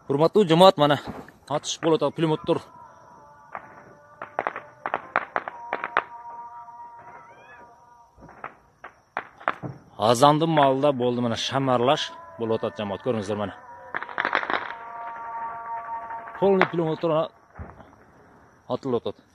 Урматтуу жамаат, mana атыш болуп атат, пулеметтер. Азандын маалда болду, mana шамарлаш болуп атат жамаат, көрүңүздөр mana. Полный пулеметтер атылып атат.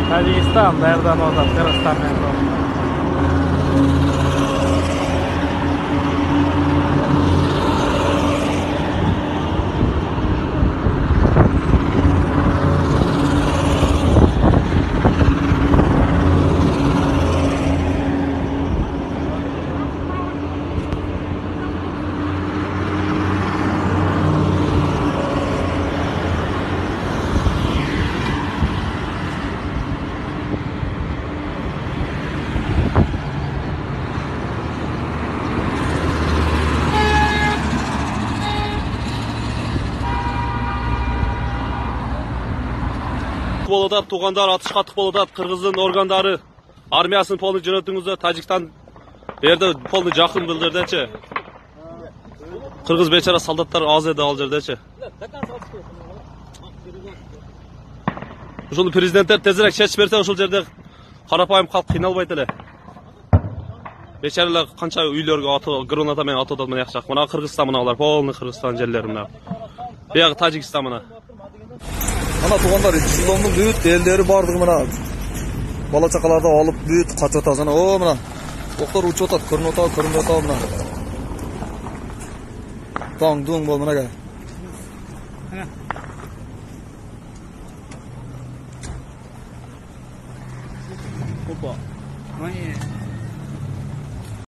Tacikistan, Berdan Ozat, Kırgızstan mentor. Болуп атат, туугандар атыш каттык болуп атат. Кыргыздын органдары армиясын полный жөнөтүңүздөр. Тажикстан берде полный жакын бул жердечи. Кыргыз бечара солдаттар аз эди ал жердечи. Ушул президенттер тезирээк чечип берсе, ушул жерде карапайым калк кыйналбайт эле. Бечаралар канча үйлөргө граната менен атып атат, мына жак. Мына Кыргызстан, мына алар полный Кыргызстан жерлери мына. Бияк Тажикстан мына. Ana tuğanlar Жылдондун бүт элдери бардыгы мына бала чакаларды алып бүт качып атат. Жана о мына октор учуп атат, көрүнүп атат мына. Таң дуң бол мынага. Опа.